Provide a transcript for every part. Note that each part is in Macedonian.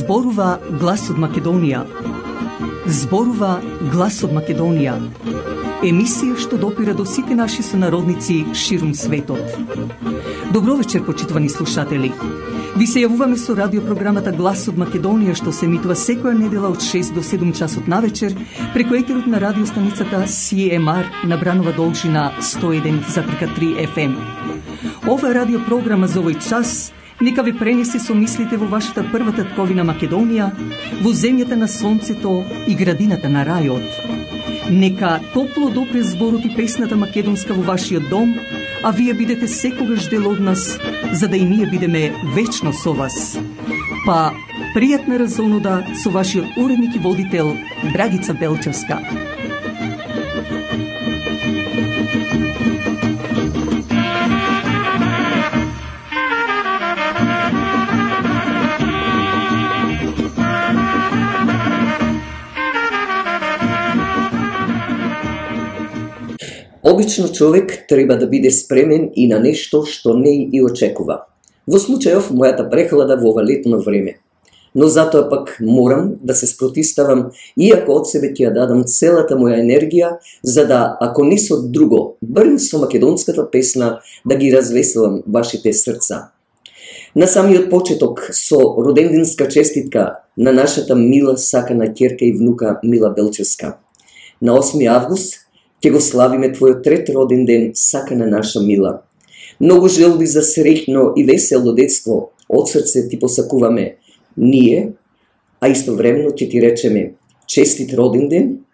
Зборува глас од Македонија. Зборува глас од Македонија. Емисија што допира до сите наши сонародници ширум светот. Добро вечер, почитувани слушатели. Ви се јавуваме со радиопрограмата Глас од Македонија, што се емитува секоја недела од 6 до 7 часот навечер преку етерот на радиостаницата CMR на Бранова должина 101,3 FM. Ова радиопрограма за овој час нека ви пренесе со мислите во вашата прва татковина Македонија, во земјата на сонцето и градината на рајот. Нека топло допре зборот и песната македонска во вашиот дом, а вие бидете секогаш дел од нас, за да и ние бидеме вечно со вас. Па, пријатна разонода со вашиот уредник и водител Драгица Белчевска. Обично човек треба да биде спремен и на нешто што не и очекува. Во случајов мојата прехлада во ова летно време. Но затоа пак морам да се спротиставам, иако од себе ќе ја дадам целата моја енергија, за да, ако не со друго, барем со македонската песна, да ги развеселам вашите срца. На самиот почеток со роденденска честитка на нашата мила сакана ќерка и внука Мила Белчевска. На 8 август ќе го славиме твојот трет роден ден, сакана наша Мила. Многу желби за среќно и весело детство од срце ти посакуваме ние, а истовремено ќе ти речеме честит роден ден,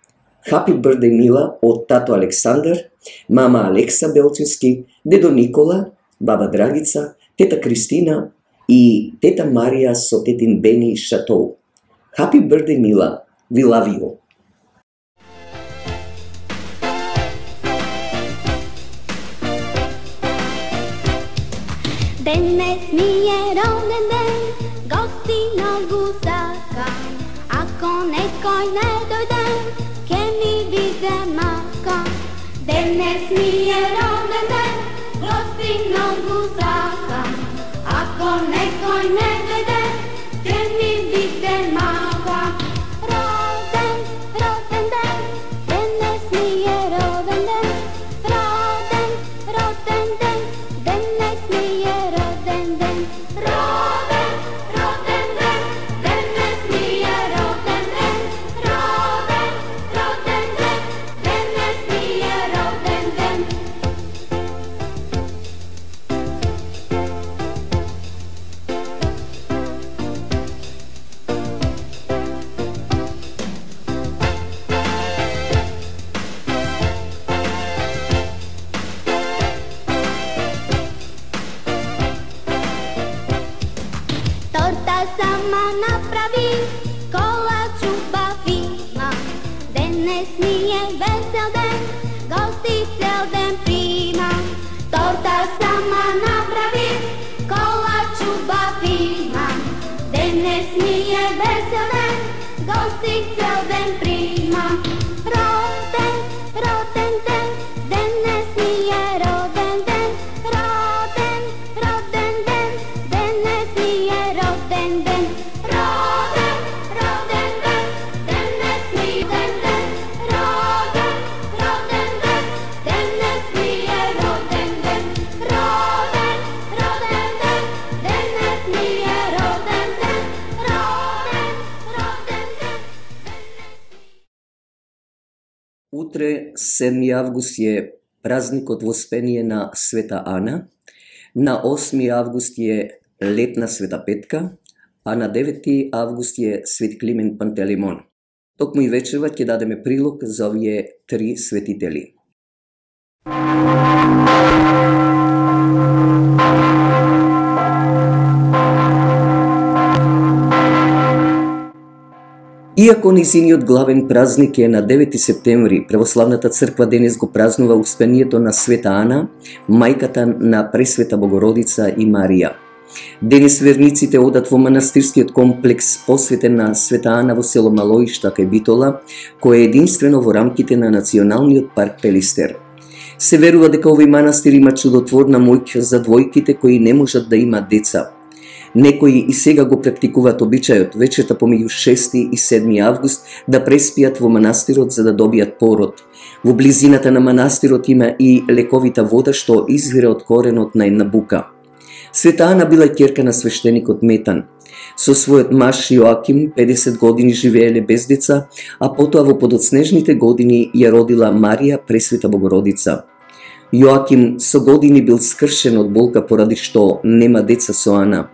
Happy birthday Мила од тато Александар, мама Алекса Белчевски, дедо Никола, баба Драгица, тета Кристина и тета Марија со тетин Бени Шатоу. Happy birthday Мила, we love you. Денес ми е роден ден, гости многу сакам. Ако некој не дојде, ке ми биде мака. Денес ми е роден ден, гости многу сакам. Ако некој не дојде, ке ми биде мака. Роден, роден ден, денес ми е роден ден. Роден, роден ден, денес ми е роден ден. Роден, роден ден, денес ми е роден ден. Роден, роден ден, денес ми е роден ден. Торта сама направи, колач убав имам. Денес ми е весел ден, гости цел ден примам. Торта сама направи, колач убав имам. Денес ми е весел ден, гости цел ден примам. Роден, роден ден, денес ми е роден ден. Роден, роден ден, денес ми е роден ден. Роден, роден ден, денес ми е роден ден. Роден, роден ден, денес ми е роден ден. Роден, роден ден, денес ми е роден ден. Роден, роден ден. Утре, 7 август е празникот Воспение на Света Ана, на 8 август е летна Света Петка, а на 9 август е Свет Климент Пантелеймон. Токму и вечерва ќе дадеме прилог за овие три светители. Иако низиниот главен празник е на 9 септември, Православната црква денес го празнува успението на Света Ана, мајката на Пресвета Богородица и Марија. Денес верниците одат во манастирскиот комплекс посветен на Света Ана во село Малоишта кај Битола, кој е единствено во рамките на Националниот парк Пелистер. Се верува дека овој манастир има чудотворна моќ за двојките кои не можат да имат деца. Некои и сега го практикуваат обичајот вечерта помеѓу 6 и 7 август да преспијат во манастирот за да добијат пород. Во близината на манастирот има и лековита вода што извира од коренот на една бука. Света Ана била ќерка на свештеникот Метан. Со својот маж Јоаким 50 години живееле без деца, а потоа во подоцнежните години ја родила Марија Пресвета Богородица. Јоаким со години бил скршен од болка поради што нема деца со Ана.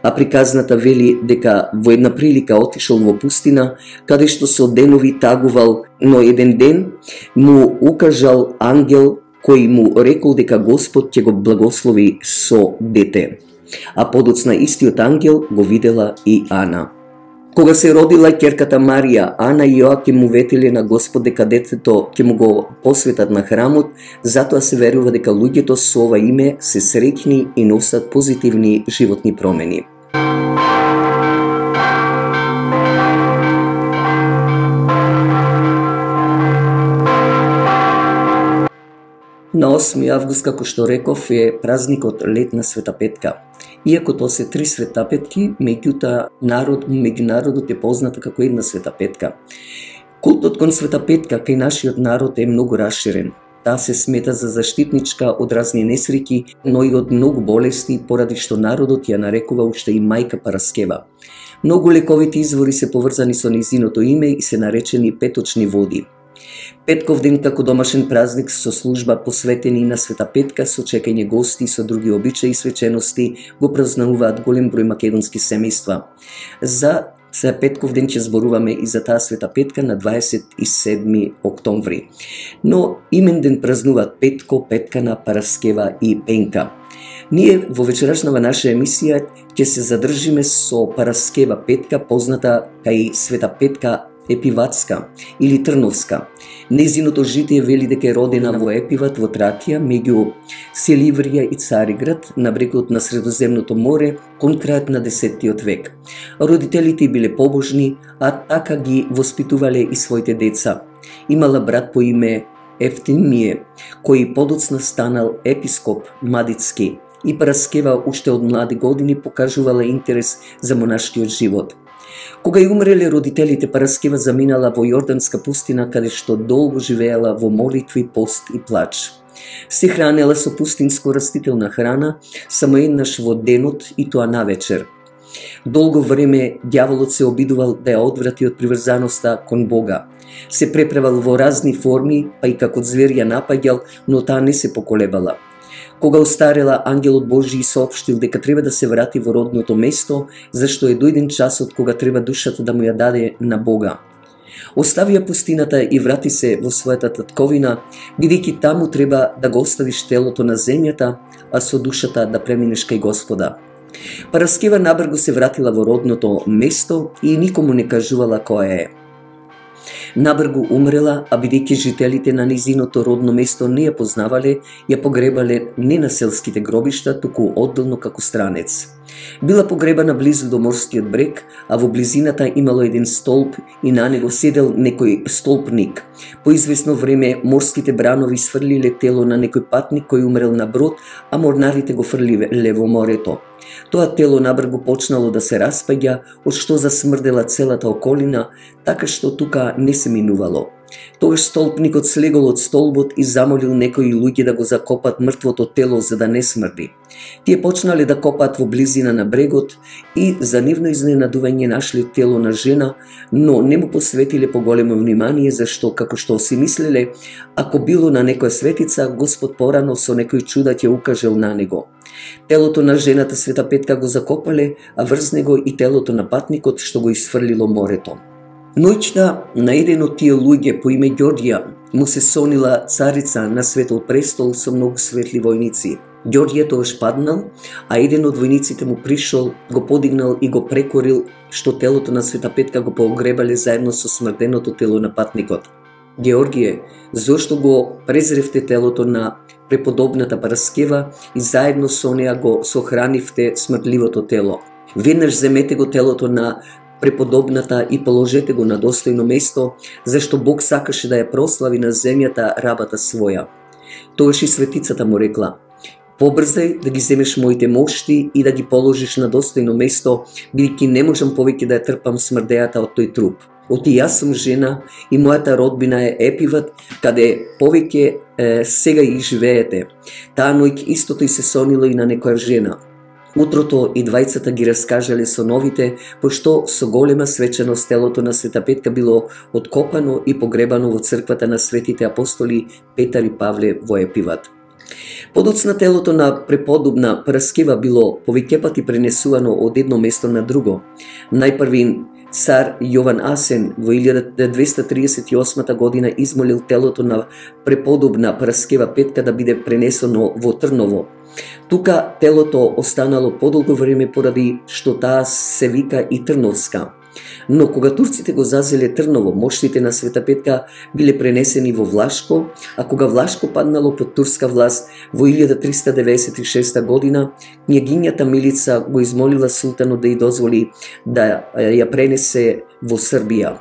А приказната вели дека во една прилика отишол во пустина, каде што со денови тагувал, но еден ден му укажал ангел кој му рекол дека Господ ќе го благослови со дете. А подоцна истиот ангел го видела и Ана. Кога се родила ќерката Марија, Ана и Јоаким му ветиле на Господ дека детето ќе му го посветат на храмот, затоа се верува дека луѓето со ова име се среќни и носат позитивни животни промени. На 8 август, како што реков, е празникот Лет на Света Петка. Иако тоа се 3 светапетки, меѓу народот е позната како една Света Петка. Култот кон Света Петка кај нашиот народ е многу расширен. Таа се смета за заштитничка од разни несреќи, но и од многу болести, поради што народот ја нарекува уште и мајка Параскева. Многу лековити извори се поврзани со нејзиното име и се наречени петочни води. Петков ден како домашен празник со служба посветени на Света Петка, со чекање гости со други обичаи и свечености го празнуваат голем број македонски семејства. За Петков ден ќе зборуваме и за таа Света Петка на 27 октомври. Но имен ден празнуваат Петко, Петкана, Параскева и Пенка. Ние во вечерашнава наша емисија ќе се задржиме со Параскева Петка, позната кај Света Петка Епиватска или Трновска. Нејзиното житие вели дека е родена во Епиват во Тракија, меѓу Селиврија и Цариград, на брегот на Средоземното море, кон крајот на 10 век. Родителите биле побожни, а така ги воспитувале и своите деца. Имала брат по име Ефтимие, кој подоцна станал епископ Мадицки, и Параскева уште од млади години покажувала интерес за монашкиот живот. Кога ја умреле родителите, Параскева заминала во Јорданска пустина, каде што долго живеела во молитви, пост и плач. Се хранела со пустинско растителна храна, само еднаш во денот и тоа навечер. Долго време ѓаволот се обидувал да ја одврати од приврзаноста кон Бога. Се преправал во разни форми, па и како звер ја напаѓал, но таа не се поколебала. Кога остарела, ангелот Божи соопштил дека треба да се врати во родното место, зашто е дојден часот кога треба душата да му ја даде на Бога. Оставија пустината и врати се во својата татковина, бидејќи таму треба да го оставиш телото на земјата, а со душата да преминеш кај Господа. Параскева набрзо се вратила во родното место и никому не кажувала која е. Набрзо умрела, а бидејќи жителите на низиното родно место не ја познавале, ја погребале не на селските гробишта, туку одделно како странец. Била погребана близу до морскиот брег, а во близината имало еден столб и на него седел некој столпник. По известно време морските бранови сфрлиле тело на некој патник кој умрел на брод, а морнарите го фрлиле во морето. Тоа тело набрзо почнало да се распаѓа, од што засмрдела целата околина, така што тука не се минувало. Тогаш столпникот слегол од столбот и замолил некои луѓе да го закопат мртвото тело за да не смрди. Тие почнале да копаат во близина на брегот и за нивно изненадување нашле тело на жена, но не му посветиле поголемо внимание, зашто, како што си мислеле, ако било на некоја светица, Господ порано со некој чуда ќе укажел на него. Телото на жената Света Петка го закопале, а врз него и телото на патникот што го исфрлило морето. Ноќта на еден од тие луѓе по име Ѓорѓија му се сонила царица на светол престол со многу светли војници. Ѓорѓија тогаш паднал, а еден од војниците му пришол, го подигнал и го прекорил, што телото на Света Петка го погребале заедно со смрденото тело на патникот. Георгије, зошто го презревте телото на преподобната Параскева и заедно со неа го сохранивте смртливото тело? Веднаш земете го телото на преподобната и положете го на достојно место, зашто Бог сакаше да ја прослави на земјата рабата своја. Тогаш и светицата му рекла: Побрзај да ги земеш моите мошти и да ги положиш на достојно место, бидејќи не можам повеќе да ја трпам смрдејата од тој труп. Оти јас сум жена и мојата родбина е Епиват, каде повеќе сега и живеете. Таа ноќ истото и се сонило и на некоја жена. Утрото и двајцата ги раскажале соновите, пошто со голема свеченост телото на Света Петка било откопано и погребано во црквата на светите апостоли Петар и Павле во Епиват. Подоцна телото на преподобна Параскева било повеќе пати пренесувано од едно место на друго. Најпрви цар Јован Асен во 1238 година измолил телото на преподобна Параскева Петка да биде пренесено во Трново. Тука телото останало подолго време поради што таа се вика и Трновска. Но кога турците го зазеле Трново, моштите на Света Петка биле пренесени во Влашко, а кога Влашко паднало под турска власт во 1396 година, књагињата Милица го измолила султанот да ја дозволи да ја пренесе во Србија.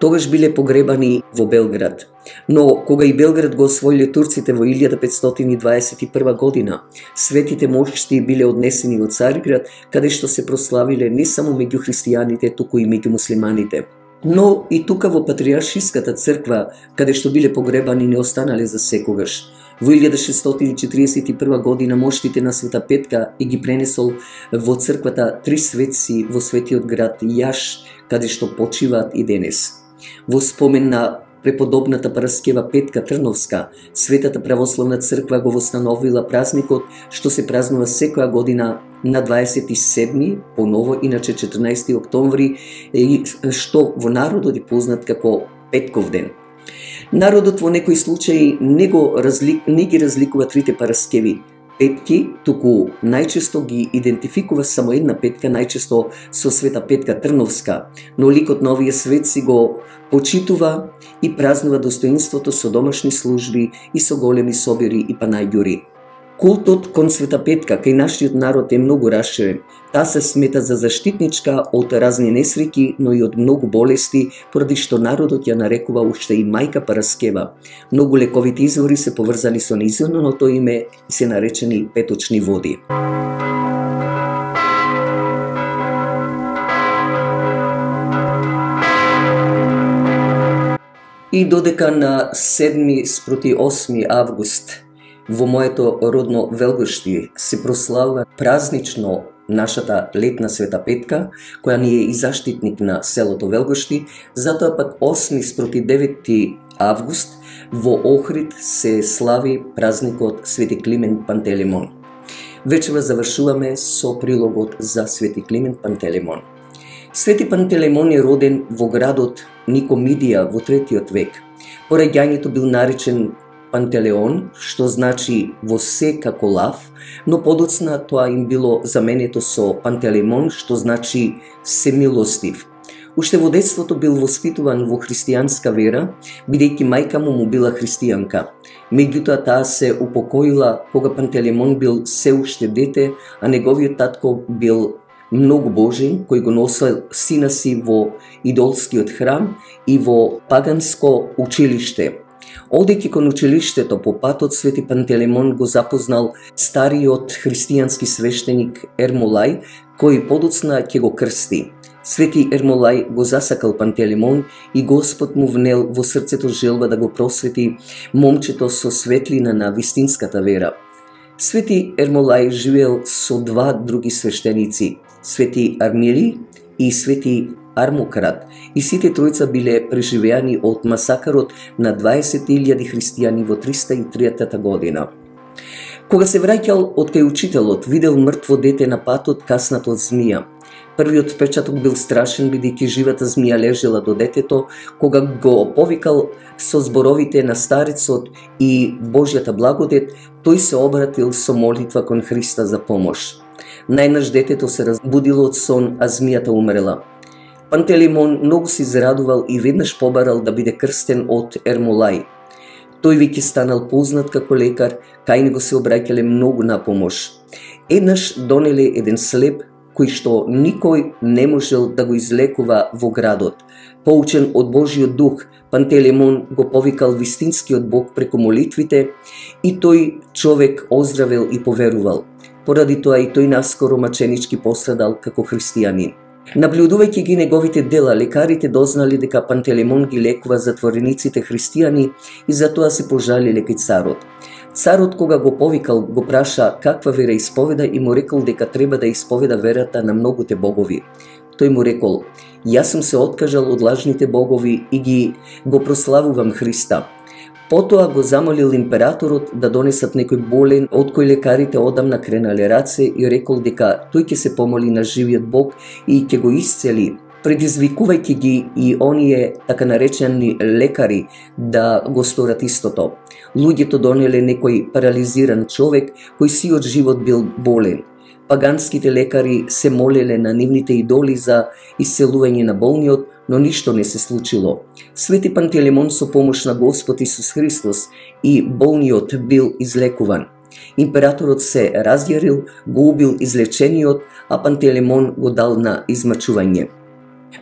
Тогаш биле погребани во Белград. Но кога и Белград го освоиле турците во 1521 година, светите мошти биле однесени во Цариград, каде што се прославиле не само меѓу христијаните, туку и меѓу муслиманите. Но и тука во Патриаршиската црква, каде што биле погребани, не останале за секогаш. Во 1641 година моштите на Света Петка и ги пренесол во црквата Три светци во светиот град Јаш, каде што почиваат и денес. Во спомен на преподобната Параскева Петка Трновска, Светата православна црква го востановила празникот што се празнува секоја година на 27, поново иначе 14 октомври, што во народот е познат како Петков ден. Народот во некои случаи не ги разликува трите Параскеви Петки, туку најчесто ги идентификува само една Петка, најчесто со Света Петка Трновска, но ликот на овие светци го почитува и празнува достоинството со домашни служби и со големи собири и панајѓури. Култот кон Света Петка кај нашиот народ е многу расширен. Таа се смета за заштитничка од разни несреќи, но и од многу болести, поради што народот ја нарекува уште и мајка Параскева. Многу лековити извори се поврзани со нејзиното име и се наречени петочни води. И додека на 7 спроти 8 август во моето родно Велгошти се прославува празнично нашата летна Света Петка, која ни е и заштитник на селото Велгошти, затоа пак 8 спроти 9 август во Охрид се слави празникот Свети Климент Пантелеймон. Вечера завршуваме со прилогот за Свети Климент Пантелеймон. Свети Пантелеймон е роден во градот Никомидија во 3 век. По раѓањето бил наречен Пантелеон, што значи во се како лав, но подоцна тоа им било заменето со Пантелеймон, што значи семилостив. Уште во детството бил воспитуван во христијанска вера, бидејќи мајка му била христијанка. Меѓутоа таа се упокоила кога Пантелеймон бил се уште дете, а неговиот татко бил многу божен, кој го носел сина си во идолскиот храм и во паганско училиште. Одејќи кон училиштето по патот, Свети Пантелеймон го запознал стариот христијански свештеник Ермолај, кој подоцна ќе го крсти. Свети Ермолај го засакал Пантелеймон и Господ му внел во срцето желба да го просвети момчето со светлина на вистинската вера. Свети Ермолај живеел со два други свештеници, Свети Армили и Свети Армократ, и сите тројца биле преживеани од масакарот на 20.000 христијани во 303 година. Кога се враќал од кај учителот, видел мртво дете на патот каснато од змија. Првиот впечаток бил страшен, бидејќи живата змија лежела до детето. Кога го повикал со зборовите на старецот и Божјата благодет, тој се обратил со молитва кон Христа за помош. Најнаш детето се разбудило од сон, а змијата умрела. Пантелеймон многу се израдувал и веднаш побарал да биде крстен од Ермолај. Тој веќе станал познат како лекар, кај него се обраќале многу на помош. Еднаш донеле еден слеп кој што никој не можел да го излекува во градот. Поучен од Божиот дух, Пантелеймон го повикал вистинскиот Бог преку молитвите и тој човек оздравел и поверувал. Поради тоа и тој наскоро маченички пострадал како христијанин. Наблюдувајќи ги неговите дела, лекарите дознали дека Пантелеймон ги лекува затворениците христијани и затоа се пожалиле кај царот. Царот кога го повикал, го праша каква вера исповеда и му рекол дека треба да исповеда верата на многуте богови. Тој му рекол: јас сум се откажал од лажните богови и го прославувам Христа. Потоа го замолил императорот да донесат некој болен од кој лекарите одамна кренале раце и рекол дека тој ќе се помоли на живиот Бог и ќе го исцели, предизвикувајќи ги и оние така наречени лекари да го сторат истото. Луѓето донеле некој парализиран човек кој сиот живот бил болен. Паганските лекари се молеле на нивните идоли за исцелување на болниот, но ништо не се случило. Свети Пантелеймон со помош на Господ Исус Христос и болниот бил излекуван. Императорот се разјарил, го убил излечениот, а Пантелеймон го дал на измачување.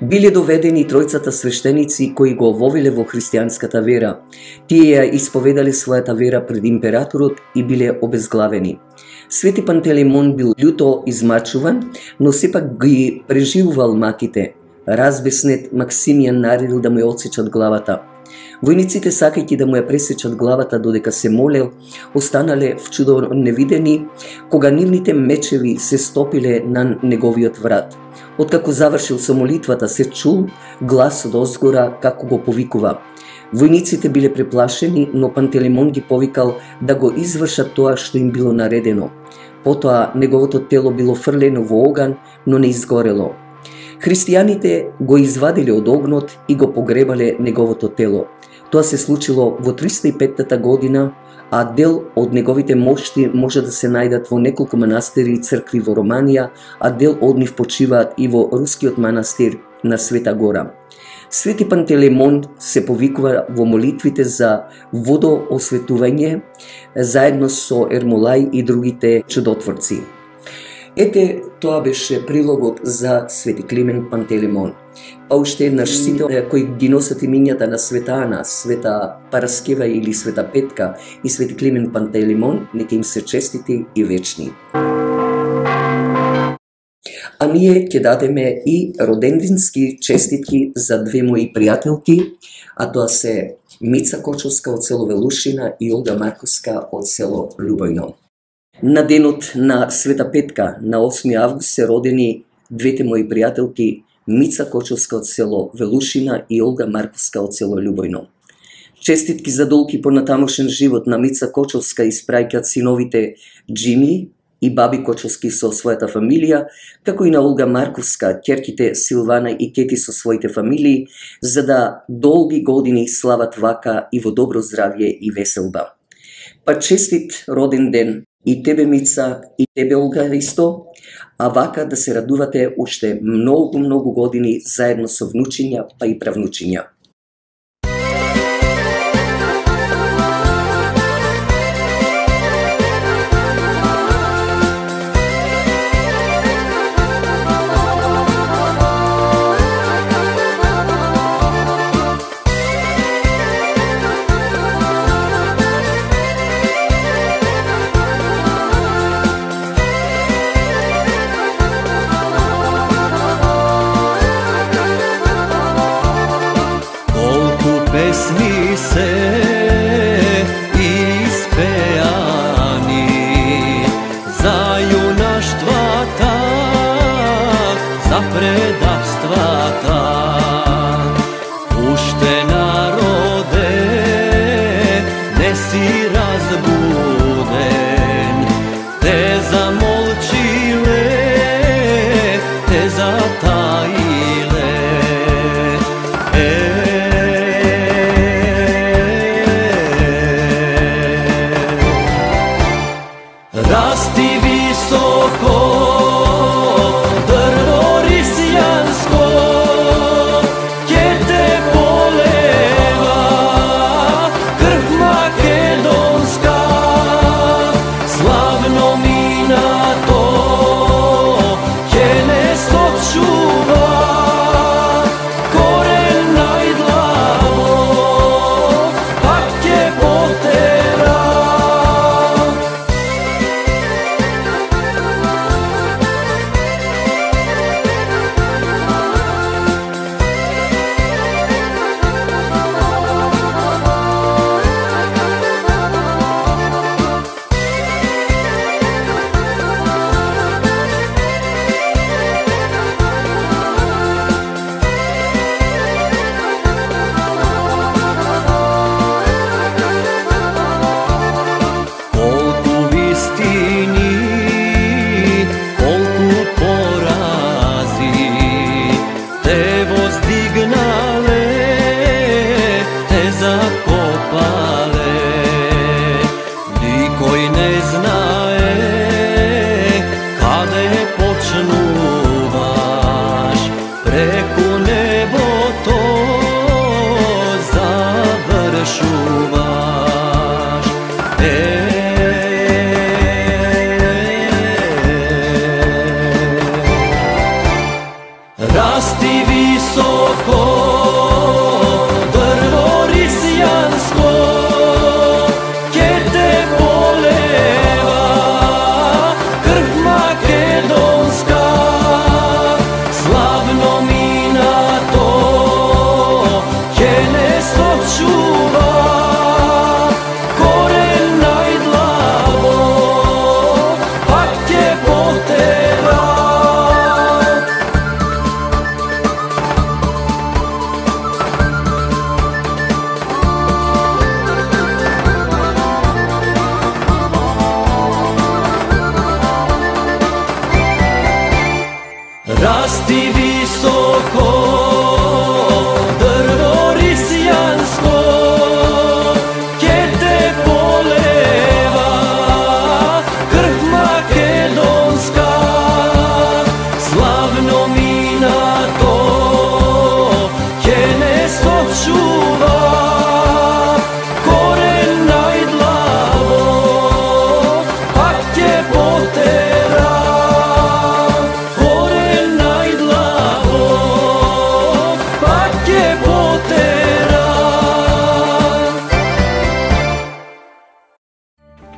Биле доведени тројцата свештеници кои го вовеле во христијанската вера. Тие ја исповедале својата вера пред императорот и биле обезглавени. Свети Пантелеймон бил љуто измачуван, но сепак ги преживувал маките. Разбеснет, Максимијан наредил да му ја отсечат главата. Војниците, сакајќи да му ја пресечат главата додека се молел, останале вчудо невидени кога нивните мечеви се стопиле на неговиот врат. Откако завршил со молитвата, се чул глас од озгора како го повикува. Војниците биле преплашени, но Пантелеймон ги повикал да го извршат тоа што им било наредено. Потоа неговото тело било фрлено во оган, но не изгорело. Христијаните го извадиле од огнот и го погребале неговото тело. Тоа се случило во 305 година, а дел од неговите мошти може да се најдат во неколку манастири и цркви во Романија, а дел од нив почиваат и во рускиот манастир на Света Гора. Свети Пантелеймон се повикува во молитвите за водоосветување заедно со Ермолај и другите чудотворци. Ете, тоа беше прилогот за Свети Климент Пантелеймон. Па уште еднаш сите кои ги носат имињата на Света Ана, Света Параскева или Света Петка и Свети Климент Пантелеймон, нека им се честити и вечни. А ние ќе дадеме и родендински честитки за две мои пријателки, а тоа се Мица Кочовска од село Велушина и Олга Марковска од село Љубојно. На денот на Света Петка, на 8 август, се родени двете мои пријателки Мица Кочовска од село Велушина и Олга Марковска од село Љубојно. Честитки за долг и понатамошен живот на Мица Кочовска испраќаат синовите Джими и баби Кочовски со својата фамилија, како и на Олга Марковска, ќерките Силвана и Кети со своите фамилии, за да долги години слават вака и во добро здравје и веселба. Па честит роден ден и тебе, Мица, и тебе, Олга, исто, а вака да се радувате уште многу години заедно со внучиња, па и правнучиња. Pesmi se ispejani za junaštva tak, za predavstva tak. Ušte narode, ne si razbuden, te zamolčile, te zatajile.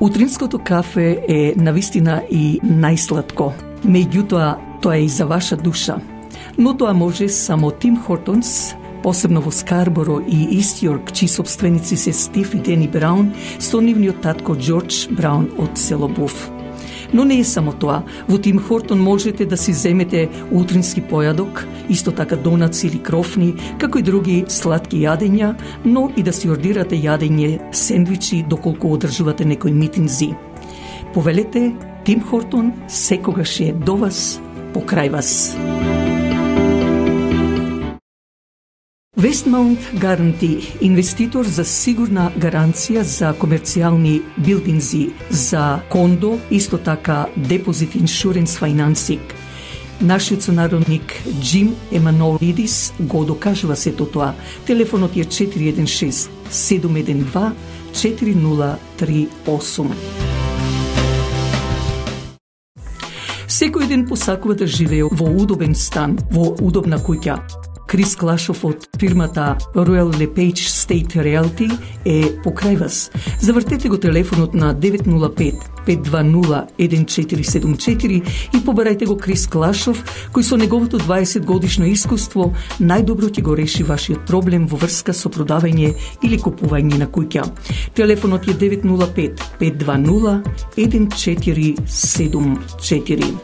Утринското кафе е навистина и најсладко. Меѓутоа, тоа е и за ваша душа. Но тоа може само Тим Хортонс, посебно во Скарборо и Ист Јорк, чии собственици се Стив и Дени Браун, со нивниот татко Џорџ Браун од село Буф. Но не е само тоа. Во Тим Хортон можете да си земете утрински појадок, исто така донаци или крофни, како и други сладки јадења, но и да си ордирате јадење, сендвичи, доколку одржувате некои митинзи. Повелете, Тим Хортон секогаш е до вас, покрај вас. Westmount Guarantee, инвеститор за сигурна гаранција за комерцијални билдинзи, за кондо, исто така Deposit Insurance Financing. Нашиот сонародник Джим Еманолидис го докажува сето тоа. Телефонот е 416 712 4038. Секој ден посакува да живее во удобен стан, во удобна куќа. Крис Клашов од фирмата Royal LePage State Realty е покрај вас. Завртете го телефонот на 905-520-1474 и побарајте го Крис Клашов, кој со неговото 20 годишно искуство најдобро ќе го реши вашиот проблем во врска со продавање или купување на куќа. Телефонот е 905-520-1474.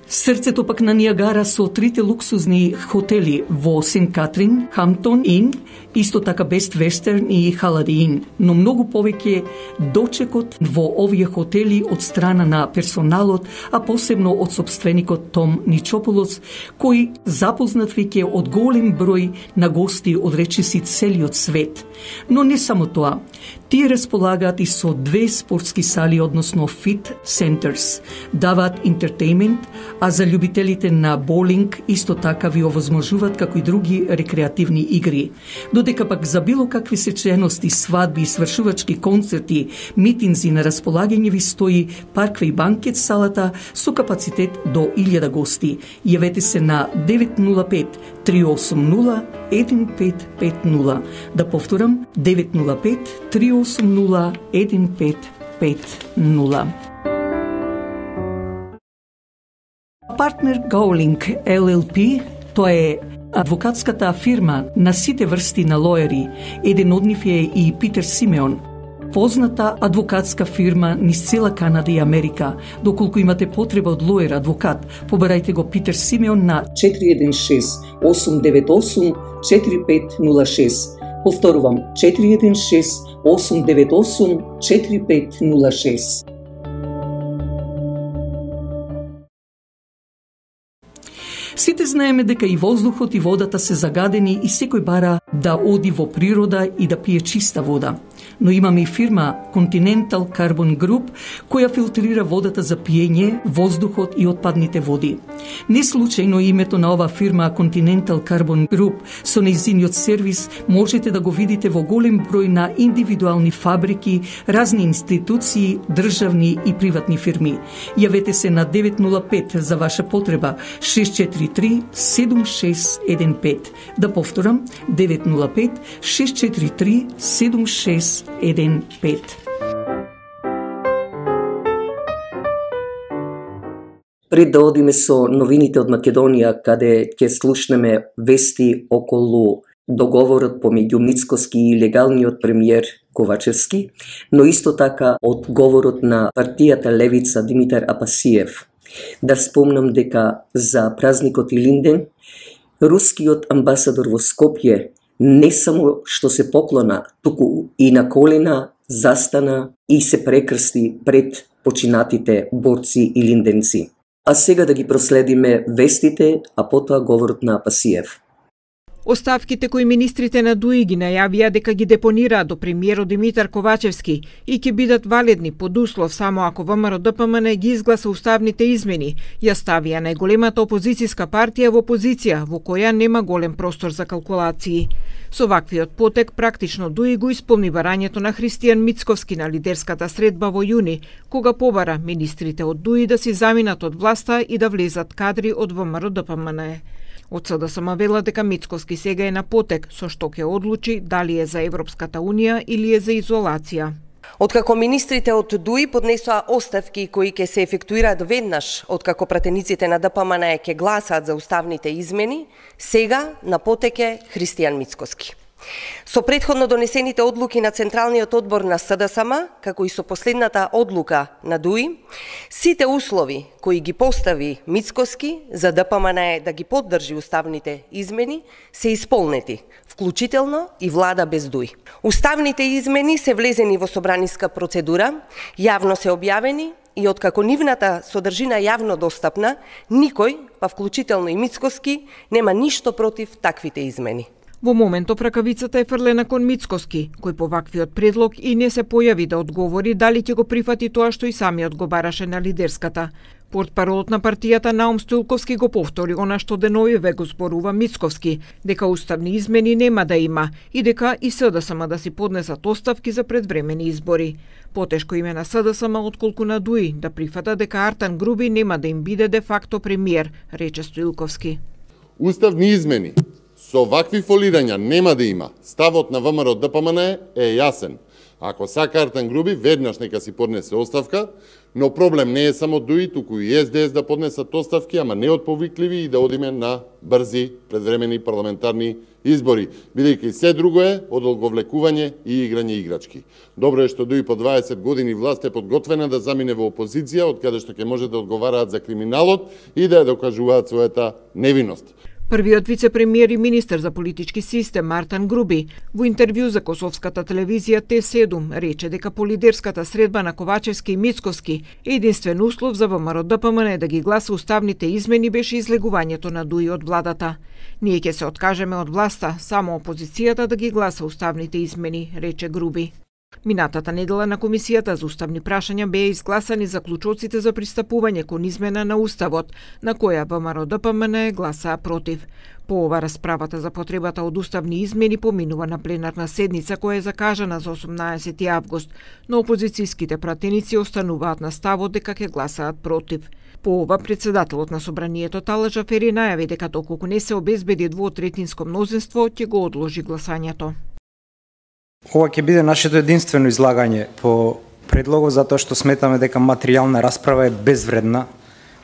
Срцето пак на Ниагара со трите луксузни хотели во Сент Катрин, Хамптон Ин, исто така Бест Вестерн и Халади Ин, но многу повеќе дочекот во овие хотели од страна на персоналот, а посебно од собственикот Том Ничополос, кој запознат веќе од голем број на гости од речиси целиот свет. Но не само тоа, тие располагаат и со 2 спортски сали, односно Fit Centers, даваат entertainment, а за љубителите на боулинг исто така ви овозможуваат како и други рекреативни игри. Додека пак за било какви сечености, свадби, свршувачки концерти, митинзи на располагање ви стои паркве и банкет салата со капацитет до 1000 гости. Јавете се на 905-380-1550. Да повторам, 905-380-1550. Партнер Gowling LLP, тоа е адвокатската фирма на сите врсти на лоери. Еден од нив е и Питер Симеон, позната адвокатска фирма низ цела Канада и Америка. Доколку имате потреба од лоер адвокат, побарајте го Питер Симеон на 416-898-4506. Повторувам, 416-898-4506. Сите знаеме дека и воздухот и водата се загадени и секој бара да оди во природа и да пие чиста вода. Но имаме и фирма Continental Carbon Group, која филтрира водата за пиење, воздухот и отпадните води. Не случајно името на ова фирма Continental Carbon Group со нејзиниот сервис можете да го видите во голем број на индивидуални фабрики, разни институции, државни и приватни фирми. Јавете се на 905 за ваша потреба 643-7615. Да повторам, 905-643-7615. Пред да одиме со новините од Македонија, каде ќе слушнеме вести околу договорот помеѓу Мицкоски и легалниот премиер Ковачевски, но исто така од говорот на партијата Левица Димитар Апасиев. Да спомнам дека за празникот Илинден, рускиот амбасадор во Скопје не само што се поклона, туку и на колена застана и се прекрсти пред починатите борци илинденци. А сега да ги проследиме вестите, а потоа говорот на Апасиев. Оставките кои министрите на ДУИ ги најавија дека ги депонираат до премиерот Димитар Ковачевски и ќе бидат валидни под услов само ако ВМРО-ДПМН ги изгласа уставните измени, ја ставија најголемата опозицијска партија во опозиција, во која нема голем простор за калкулации. Со ваквиот потек, практично ДУИ го исполни барањето на Христијан Мицковски на лидерската средба во јуни, кога побара министрите од ДУИ да си заминат од власта и да влезат кадри од ВМРО-ДПМН. Од СДСМ вела дека Мицкоски сега е на потек, со што ќе одлучи дали е за Европската Унија или е за изолација. Откако министрите од ДУИ поднесоа оставки кои ќе се ефектуираат веднаш откако пратениците на ДПМН ќе гласаат за уставните измени, сега на потек е Христијан Мицкоски. Со претходно донесените одлуки на Централниот одбор на СДСМ, како и со последната одлука на ДУИ, сите услови кои ги постави Мицкоски за ДПМН да ги поддржи уставните измени се исполнети, вклучително и влада без ДУИ. Уставните измени се влезени во собраниска процедура, јавно се објавени и откако нивната содржина јавно достапна, никој, па вклучително и Мицкоски, нема ништо против таквите измени. Во моментов ракавицата е фрлена кон Мицкоски, кој по ваквиот предлог и не се појави да одговори дали ќе го прифати тоа што и самиот го бараше на лидерската. Портпаролот на партијата Наум Стоилковски го повтори она што деновиве го зборува Мицкоски, дека уставни измени нема да има и дека и СДСМ да си поднесат оставки за предвремени избори. Потешко име на СДСМ отколку на ДУИ да прифата дека Артан Груби нема да им биде де факто премиер, рече Стоилковски. Уставни измени со вакви фолирања нема да има. Ставот на ВМРО ДПМН е јасен. Ако сака Артан Груби, веднаш нека си поднесе оставка, но проблем не е само ДУИ, туку и СДС да поднесат оставки, ама не од повикливи и да одиме на брзи предвремени парламентарни избори, бидејќи се друго е од одговлекување и играње играчки. Добро е што ДУИ по 20 години власт е подготвена да замине во опозиција, од каде што ќе може да одговараат за криминалот и да ја докажуваат својата невиност. Првиот вице-премиер и министер за политички систем Артан Груби во интервју за косовската телевизија Т7 рече дека по лидерската средба на Ковачевски и Мицкоски единствен услов за ВМРО ДПМН да ги гласа уставните измени беше излегувањето на ДУИ од владата. Ние ќе се откажеме од власта, само опозицијата да ги гласа уставните измени, рече Груби. Минатата недела на Комисијата за уставни прашања беа изгласани заклучоците за пристапување кон измена на Уставот, на која ВМРО ДПМН гласаа против. По ова расправата за потребата од уставни измени поминува на пленарна седница која е закажана за 18 август, но опозицијските пратеници остануваат на ставот дека ќе гласаат против. По ова, председателот на Собранието Талат Джафери најави дека доколку не се обезбеди двотретинско мнозинство, ќе го одложи гласањето. Ова ќе биде нашето единствено излагање по предлогот, затоа што сметаме дека материјална расправа е безвредна,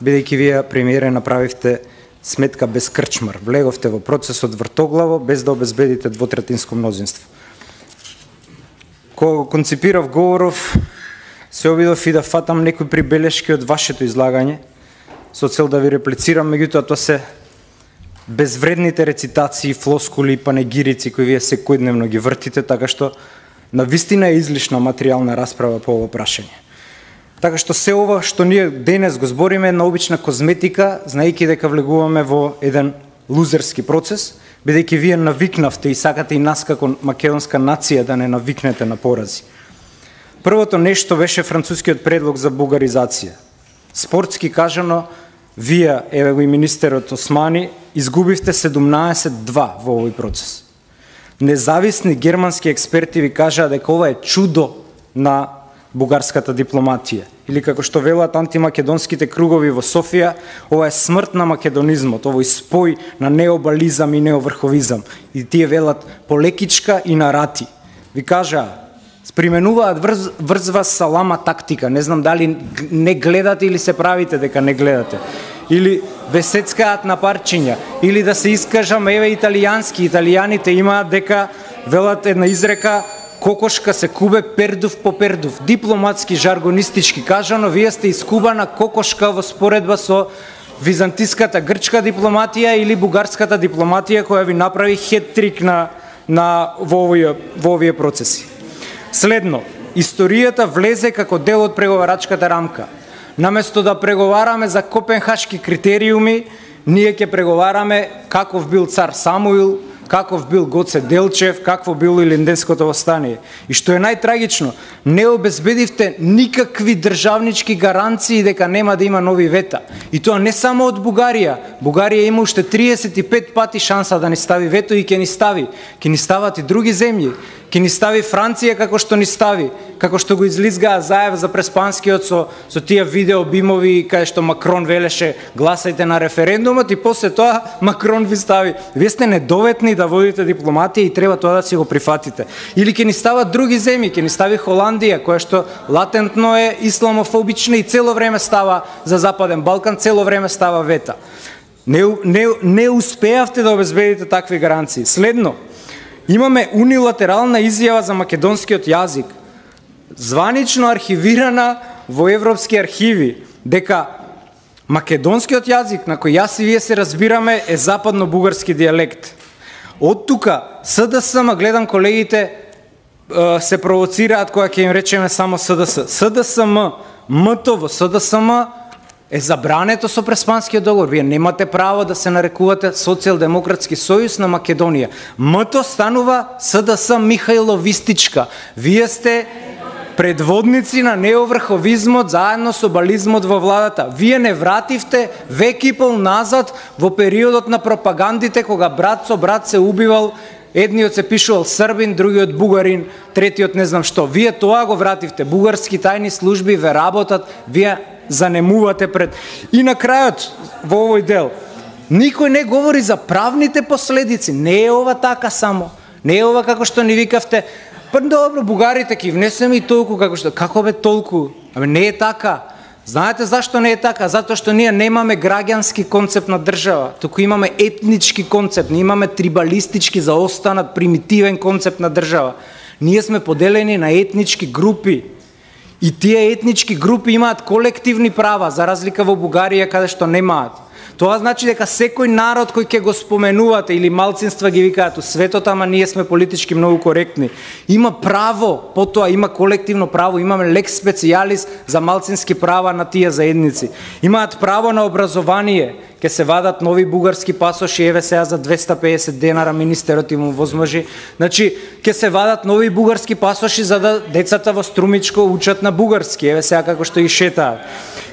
бидејќи вие, премиере, направивте сметка без крчмар. Влеговте во процесот вртоглаво, без да обезбедите двотретинско мнозинство. Кога го концепирав говоров, се обидов и да фатам некои прибелешки од вашето излагање, со цел да ви реплицирам, меѓутоа тоа се безвредните рецитации, флоскули и панегирици кои вие секојдневно ги вртите, така што навистина е излишна материјална расправа по ова прашање. Така што се ова што ние денес го збориме е на обична козметика, знаејќи дека влегуваме во еден лузерски процес, бидејќи вие навикнавте и сакате и нас како македонска нација да не навикнете на порази. Првото нешто беше францускиот предлог за бугаризација. Спортски кажано, вие, еве го и министерот Османи, изгубивте 17-2 во овој процес. Независни германски експерти ви кажаа дека ова е чудо на бугарската дипломатија. Или како што велат антимакедонските кругови во Софија, ова е смрт на македонизмот, овој спој на необализам и неоврховизам. И тие велат полекичка и нарати. Ви кажаа, применуваат врзва салама тактика. Не знам дали не гледате или се правите дека не гледате. Или весецкаат на парчиња. Или да се искажам, еве италијански. Италијаните имаат дека велат една изрека кокошка се кубе пердув по пердув. Дипломатски, жаргонистички кажано, вие сте искубана кокошка во споредба со византиската грчка дипломатија или бугарската дипломатија која ви направи хет-трик во овие процеси. Следно, историјата влезе како дел од преговарачката рамка. Наместо да преговараме за копенхашки критериуми, ние ќе преговараме каков бил цар Самуил, каков бил Гоце Делчев, какво било Илинденското восстание. И што е најтрагично, не обезбедивте никакви државнички гаранции дека нема да има нови вета. И тоа не само од Бугарија. Бугарија има уште 35 пати шанса да ни стави вето и ќе ни стави. Ќе ни стават и други земји. Ќе ни стави Франција како што ни стави, како што го излизгаа Заев за преспанскиот со тие видео бимови кај што Макрон велеше гласајте на референдумот и после тоа Макрон ви стави. Вие сте недоветни да водите дипломатија и треба тоа да си го прифатите. Или ќе ни стават други земји, ќе ни стави Холандија која што латентно е исламофобична и цело време става за Западен Балкан, цело време става вета. Не успеавте да обезбедите такви гаранции. Следно, имаме унилатерална изјава за македонскиот јазик, званично архивирана во европски архиви, дека македонскиот јазик, на кој јас и вие се разбираме, е западно-бугарски дијалект. Од тука, СДСМ, гледам колегите се провоцираат кога ќе им речеме само СДС. СДСМ, МТО во СДСМ е забрането со Преспанскиот договор. Вие немате право да се нарекувате Социјалдемократски сојуз на Македонија. МТО станува СДС Михајловистичка. Вие сте предводници на неоврховизмот заедно со бализмот во владата. Вие не вративте век и пол назад во периодот на пропагандите кога брат со брат се убивал. Едниот се пишувал србин, другиот бугарин, третиот не знам што. Вие тоа го вративте. Бугарски тајни служби ве работат, вие занемувате пред. И на крајот во овој дел, никој не говори за правните последици. Не е ова така само. Не е ова како што ни викавте. Па добро, бугарите ќе внесеме и толку како што. Како бе толку? Абе не е така. Знаете зашто не е така? Затоа што ние немаме граѓански концепт на држава, туку имаме етнички концепт, ние имаме трибалистички заостанат примитивен концепт на држава. Ние сме поделени на етнички групи и тие етнички групи имаат колективни права, за разлика во Бугарија каде што немаат. Тоа значи дека секој народ кој ќе го споменувате или малцинства ги викаат у светот, ама ние сме политички многу коректни, има право, потоа има колективно право, имаме лекс специјалис за малцински права на тие заедници. Имаат право на образование, ќе се вадат нови бугарски пасоши, еве сега за 250 денара министерот им возможи. Значи, ќе се вадат нови бугарски пасоши за да децата во Струмичко учат на бугарски, еве сега како што и шетаат.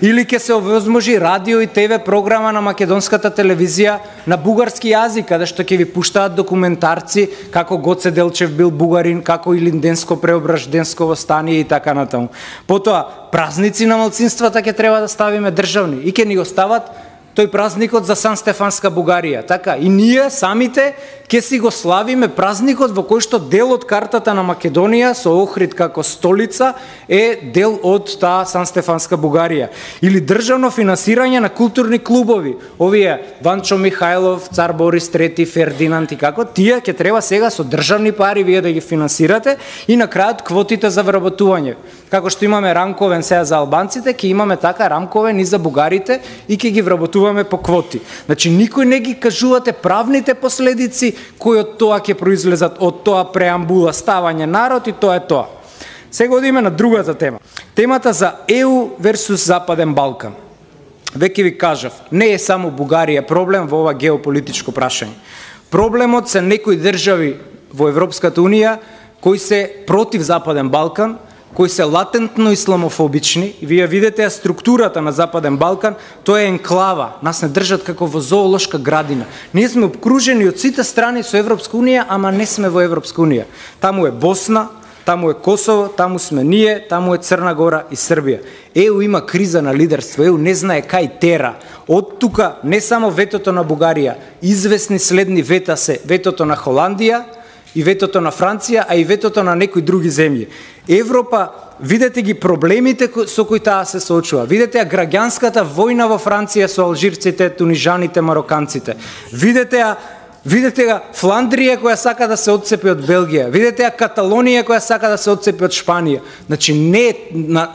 Или ќе се возможи радио и ТВ програма на македонската телевизија на бугарски јазик, каде што ќе ви пуштаат документарци како Гоце Делчев бил бугарин, како Илинденско преображденско востание и така натаму. Потоа, празници на малцинствата ќе треба да ставиме државни и ќе ни го стават тој празникот за Сан Стефанска Бугарија, така? И ние самите ќе си го славиме празникот во кој што дел од картата на Македонија со Охрид како столица е дел од таа Сан Стефанска Бугарија. Или државно финансирање на културни клубови. Овие Ванчо Михајлов, Цар Борис III, Фердинанд и како, тие ќе треба сега со државни пари вие да ги финансирате и на крајот квотите за вработување. Како што имаме рамковен сега за албанците, ќе имаме така рамковен и за бугарите и ќе ги вработуваме по квоти. Значи никој не ги кажувате правните последици кои од тоа ќе произлезат од тоа преамбула ставање народ и тоа е тоа. Сега одиме на другата тема. Темата за ЕУ версус Западен Балкан. Веќе ви кажав, не е само Бугарија проблем во ова геополитичко прашање. Проблемот се некои држави во Европската Унија кои се против Западен Балкан, кои се латентно исламофобични. Вие видите структурата на Западен Балкан, тоа е енклава. Нас не држат како во зоолошка градина. Ние сме обкружени од сите страни со Европска Унија, ама не сме во Европска Унија. Таму е Босна, таму е Косово, таму сме ние, таму е Црна Гора и Србија. ЕУ има криза на лидерство, ЕУ не знае кај тера. Од тука не само ветото на Бугарија, известни следни вета се ветото на Холандија, и ветото на Франција, а и ветото на некои други земји. Европа, видете ги проблемите со кои таа се соочува. Видете ја граѓанската војна во Франција со алжирците, тунижаните, мароканците. Видете ја Фландрија која сака да се отцепи од Белгија. Видете ја Каталонија која сака да се отцепи од Шпанија. Значи не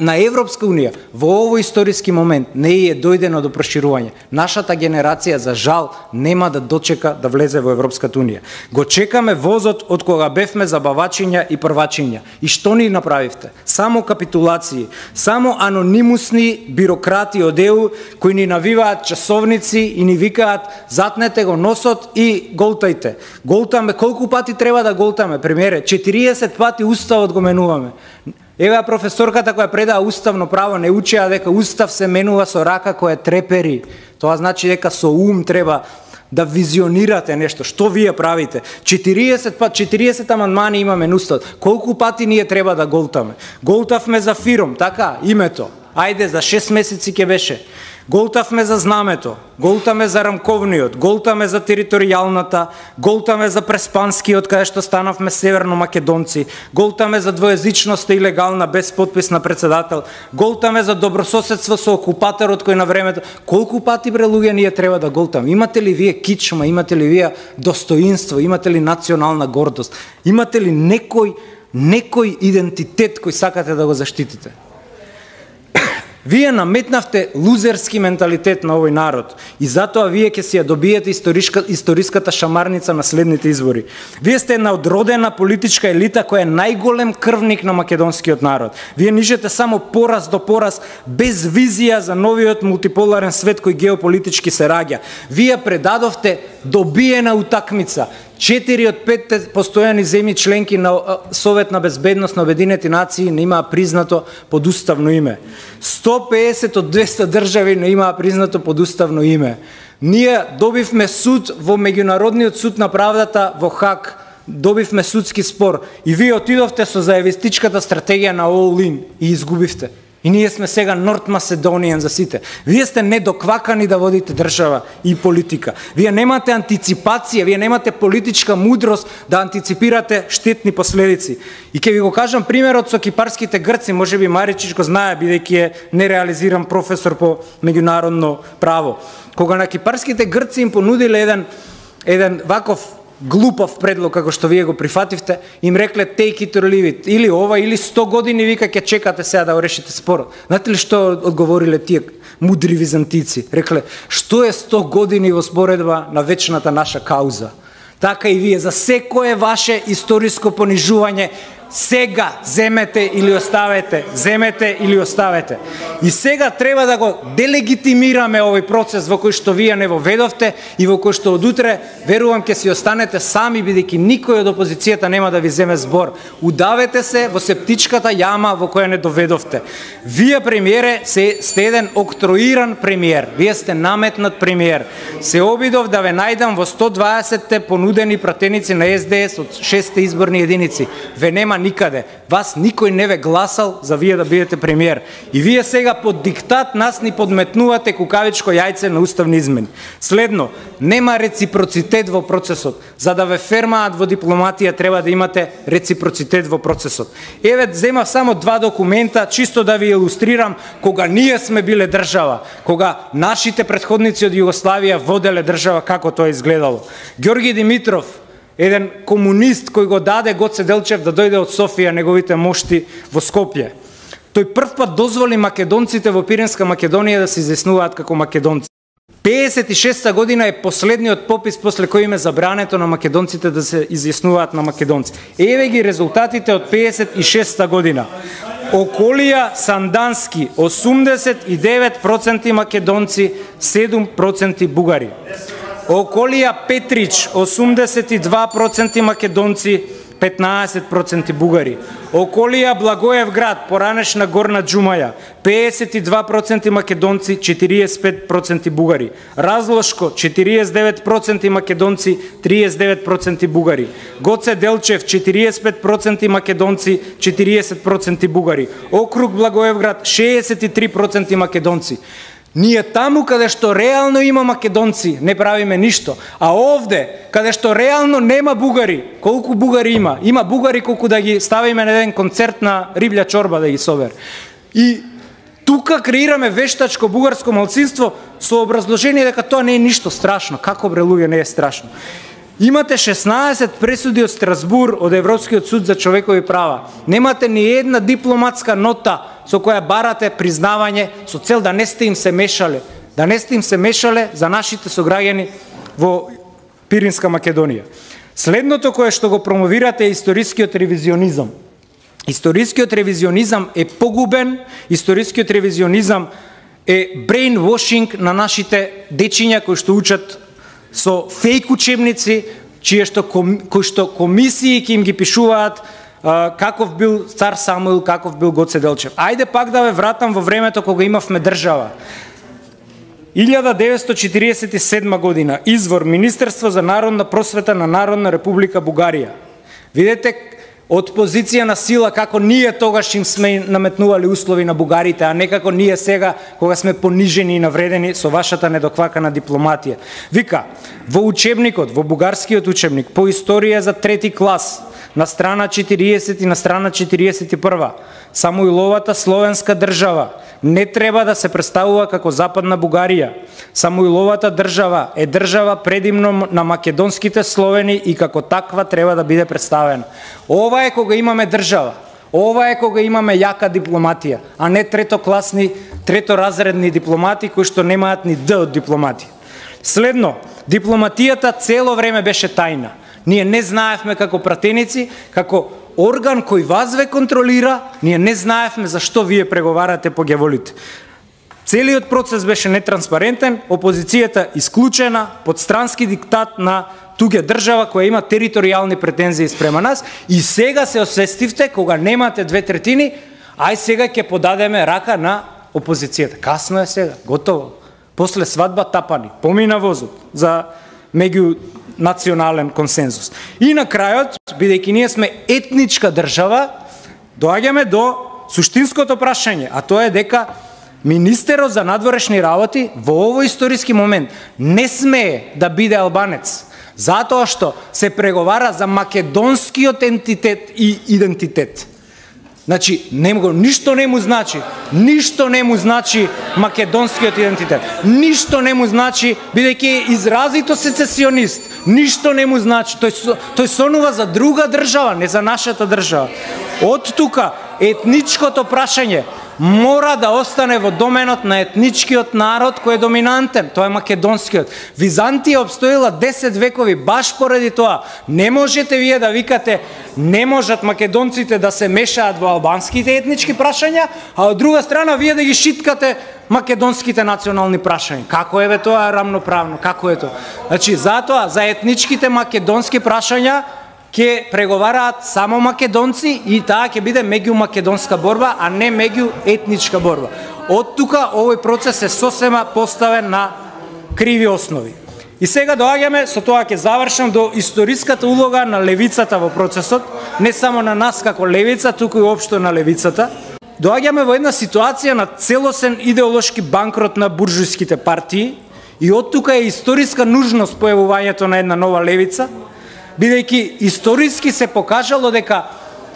на Европска Унија во овој историски момент не е дојдено до проширување. Нашата генерација за жал нема да дочека да влезе во Европската Унија. Го чекаме возот од кога бевме забавачиња и првачиња. И што ни направивте? Само капитулации, само анонимусни бирократи од ЕУ кои ни навиваат часовници и ни викаат затнете го носот и голтајте. Голтаме, колку пати треба да голтаме, премиере? 40 пати уставот го менуваме. Еве професорката која предава уставно право не учеа дека устав се менува со рака која трепери. Тоа значи дека со ум треба да визионирате нешто. Што вие правите? 40 амандмани имаме на устав. Колку пати ние треба да голтаме? Голтавме за фиром, така, името. Ајде, за 6 месеци ќе беше. Голтавме за знамето, голтаме за рамковниот, голтаме за територијалната, голтаме за преспанскиот, каде што станавме северно македонци, голтаме за двоезичноста и легална без подпис на председател, голтаме за добрососедство со окупаторот кој на времето. Колку пати, бре луѓе, ние треба да голтаме? Имате ли вие кичма, имате ли вие достоинство, имате ли национална гордост, имате ли некој идентитет кој сакате да го заштитите? Вие наметнавте лузерски менталитет на овој народ и затоа вие ќе си ја добиете историската шамарница на следните избори. Вие сте една одродена политичка елита која е најголем крвник на македонскиот народ. Вие нишете само пораз до пораз, без визија за новиот мултиполарен свет кој геополитички се раѓа. Вие предадовте добиена утакмица. 4 од 5 постојани земји членки на Совет на безбедност на Обединети нации не имаа признато под уставно име. 150 од 200 држави не имаа признато под уставно име. Ние добивме суд во Меѓународниот суд на правдата во Хаг, добивме судски спор и вие отидовте со заевистичката стратегија на all in и изгубивте. И ние сме сега Норт Macedonian за сите. Вие сте недоквакани да водите држава и политика. Вие немате антиципација, вие немате политичка мудрост да антиципирате штетни последици. И ќе ви го кажам примерот со кипарските грци, можеби Маричич го знае, бидејќи е нереализиран професор по меѓународно право. Кога на кипарските грци им понудиле еден ваков глупав предлог како што вие го прифативте, им рекле take it or leave it, или ова или 100 години вика ќе чекате сега да го решите спорот. Знаете ли што одговориле тие мудри византици? Рекле, што е 100 години во споредба на вечната наша кауза? Така и вие за секое ваше историско понижување сега земете или оставете, земете или оставете. И сега треба да го делегитимираме овој процес во кој што вие не воведовте и во кој што од утре, верувам, ќе си останете сами, бидејќи никој од опозицијата нема да ви земе збор. Удавете се во септичката јама во која не доведовте. Вие, премиере, сте еден октроиран премиер. Вие сте наметнат премиер. Се обидов да ве најдам во 120-те понудени пратеници на СДС од 6-те изборни единици. Ве нема никаде. Вас никој не ве гласал за вие да бидете премиер. И вие сега под диктат нас ни подметнувате кукавичко јајце на уставни измени. Следно, нема реципроцитет во процесот. За да ве фермаат во дипломатија треба да имате реципроцитет во процесот. Еве, земав само 2 документа, чисто да ви илустрирам кога ние сме биле држава, кога нашите претходници од Југославија воделе држава, како тоа изгледало. Ѓорги Димитров, еден комунист кој го даде Гоце Делчев да дојде од Софија неговите мошти во Скопје. Тој прв пат дозволи македонците во Пиринска Македонија да се изјаснуваат како македонци. 56-та година е последниот попис после кој им е забрането на македонците да се изјаснуваат на македонци. Еве ги резултатите од 56-та година. Околија Сандански 89% македонци, 7% бугари. Околија Петрич 82% македонци, 15% бугари. Околија Благоевград, поранешна Горна Џумаја, 52% македонци, 45% бугари. Разлошко 49% македонци, 39% бугари. Гоце Делчев 45% македонци, 40% бугари. Округ Благоевград 63% македонци. Ние таму каде што реално има македонци не правиме ништо, а овде каде што реално нема бугари, колку бугари има? Има бугари колку да ги ставиме на еден концерт на риблја чорба да ги собер. И тука креираме вештачко бугарско малцинство со образложение дека тоа не е ништо страшно. Како, бре луѓе, не е страшно? Имате 16 пресуди од Страсбур, од Европскиот суд за човекови права. Немате ни една дипломатска нота со која барате признавање со цел да не сте им се мешале. Да не сте им се мешале за нашите сограѓани во Пиринска Македонија. Следното кое што го промовирате е историскиот ревизионизам. Историскиот ревизионизам е погубен, историскиот ревизионизам е brainwashing на нашите дечиња кои што учат со фейк учебници, кои што комисии ќе им ги пишуваат каков бил цар Самуил, каков бил Гоце Делчев. Ајде пак да ве вратам во времето кога имавме држава. 1947 година, извор Министерство за народна просвета на Народна република Бугарија. Видете од позиција на сила како ние тогаш им сме наметнували услови на бугарите, а не како ние сега кога сме понижени и навредени со вашата недоквакана дипломатија. Вика, во учебникот, во бугарскиот учебник по историја за 3-ти клас, на страна 40 и на страна 41, Самуиловата словенска држава не треба да се представува како Западна Бугарија. Самуиловата држава е држава предимно на македонските словени и како таква треба да биде представена. Ова е кога имаме држава. Ова е кога имаме јака дипломатија, а не третокласни, треторазредни дипломати кои што немаат ни Д од дипломатија. Следно, дипломатијата цело време беше тајна. Ние не знаевме како пратеници, како орган кој вас ве контролира, ние не знаевме зашто вие преговарате по гјаволите. Целиот процес беше нетранспарентен, опозицијата исклучена под странски диктат на туѓа држава која има територијални претензии спрема нас и сега се освестивте кога немате 2/3, ај сега ќе подадеме рака на опозицијата. Касно е сега, готово. После свадба тапани, помина возот за меѓунационален консензус. И на крајот, бидејќи ние сме етничка држава, доаѓаме до суштинското прашање, а тоа е дека министерот за надворешни работи во овој историски момент не смее да биде албанец, затоа што се преговара за македонскиот ентитет и идентитет. Значи, ништо не му значи македонскиот идентитет. Ништо не му значи, бидејќи е изразито сецесионист. Ништо не му значи. Тој сонува за друга држава, не за нашата држава. Од тука, етничкото прашање мора да остане во доменот на етничкиот народ кој е доминантен, тоа е македонскиот. Византија обстоила 10 векови баш поради тоа. Не можете вие да викате не можат македонците да се мешаат во албанските етнички прашања, а од друга страна вие да ги шиткате македонските национални прашања. Како е тоа рамноправно? Како е тоа? Значи, затоа за етничките македонски прашања ќе преговараат само македонци и таа ќе биде меѓумакедонска борба, а не меѓуетничка борба. Од тука овој процес е сосема поставен на криви основи. И сега доаѓаме, со тоа ќе завршам, до историската улога на левицата во процесот, не само на нас како левица, туку и општо на левицата. Доаѓаме во една ситуација на целосен идеолошки банкрот на буржујските партии и од тука е историска нужност појавувањето на една нова левица, бидејќи историски се покажало дека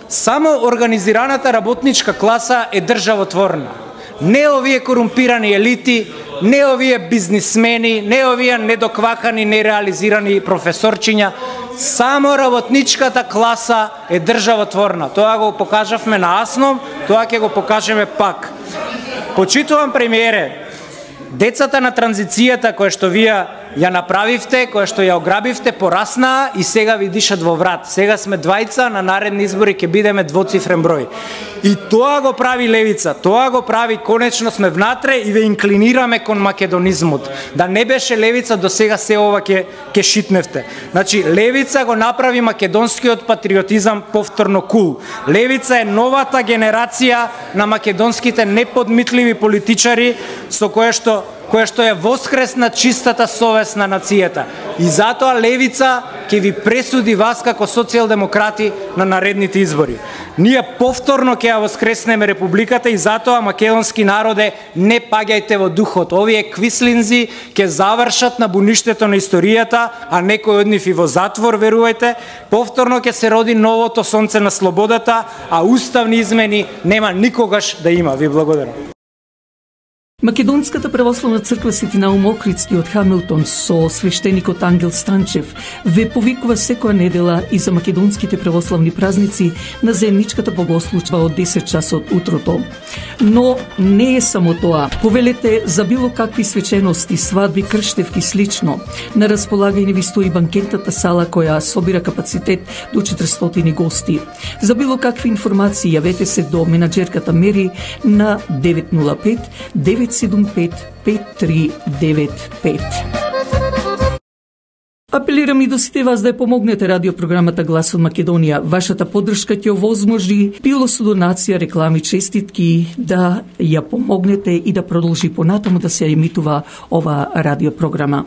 само организираната работничка класа е државотворна. Не овие корумпирани елити, не овие бизнисмени, не овие недоквакани, нереализирани професорчиња, само работничката класа е државотворна. Тоа го покажавме на Асном, тоа ќе го покажеме пак. Почитувам премиере, децата на транзицијата која што вие ја направивте, која што ја ограбивте, пораснаа и сега ви дишат во врат. Сега сме двајца, на наредни избори ќе бидеме двоцифрен број. И тоа го прави левица, тоа го прави, конечно сме внатре и ве инклинираме кон македонизмот. Да не беше левица, до сега се ова ќе шитневте. Значи, левица го направи македонскиот патриотизам повторно кул. Левица е новата генерација на македонските неподмитливи политичари со која што е воскресна чистата совест на нацијата. И затоа левица ќе ви пресуди вас како социјалдемократи на наредните избори. Ние повторно ќе ја воскреснеме републиката и затоа македонски народе не паѓајте во духот. Овие квислинзи ќе завршат на буништето на историјата, а некој од нив и во затвор, верувајте. Повторно ќе се роди новото сонце на слободата, а уставни измени нема никогаш да има. Ви благодарам. Македонската православна црква Свети Наум Охридски од Хамилтон со свештеникот Ангел Станчев ве повикува секоја недела и за македонските православни празници на заедничката богослужба од 10 часот утрото. Но не е само тоа. Повелете за било какви свечености, свадби, крштевки слично. На располагање ви стои банкетната сала која собира капацитет до 400 гости. За било какви информации јавете се до менаџерката Мери на 905 975 5395. Апелирам и до сите вас да ја помогнете радиопрограмата Глас од Македонија. Вашата поддршка ќе овозможи, било со донација, реклами, честитки, да ја помогнете и да продолжи понатаму да се емитува ова радиопрограма.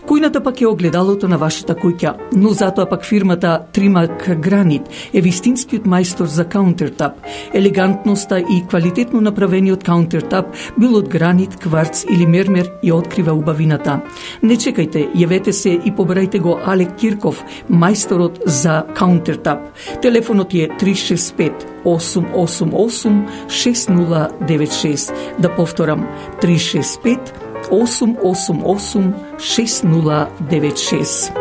Кујната пак е огледалото на вашата куќа, но затоа пак фирмата Тримак Гранит е вистинскиот мајстор за каунтертап. Елегантноста и квалитетно направениот каунтертап, било од гранит, кварц или мермер, ја открива убавината. Не чекајте, јавете се и побарајте го Алек Кирков, мајсторот за каунтертап. Телефонот е 365 888 6096. Да повторам, 365 888 6096.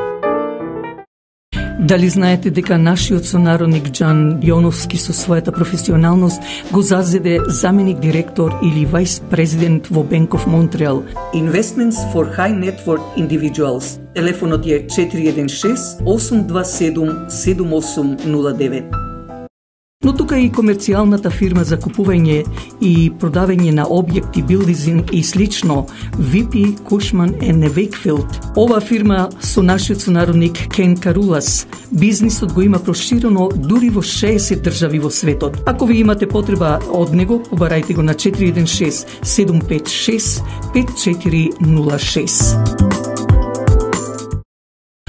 Дали знаете дека нашиот сонародник Џан Јоновски со својата професионалност го зазеде заменик директор или вајс президент во Bank of Montreal? Investments for High Net Worth Individuals. Телефонот е 416 827 7809. Но тука и комерцијалната фирма за купување и продавање на објекти, билдинг и слично, VP Cushman & Wakefield. Ова фирма со нашиот сонародник Кен Карулас. Бизнисот го има проширено дури во 60 држави во светот. Ако ви имате потреба од него, побарајте го на 416 756 5406.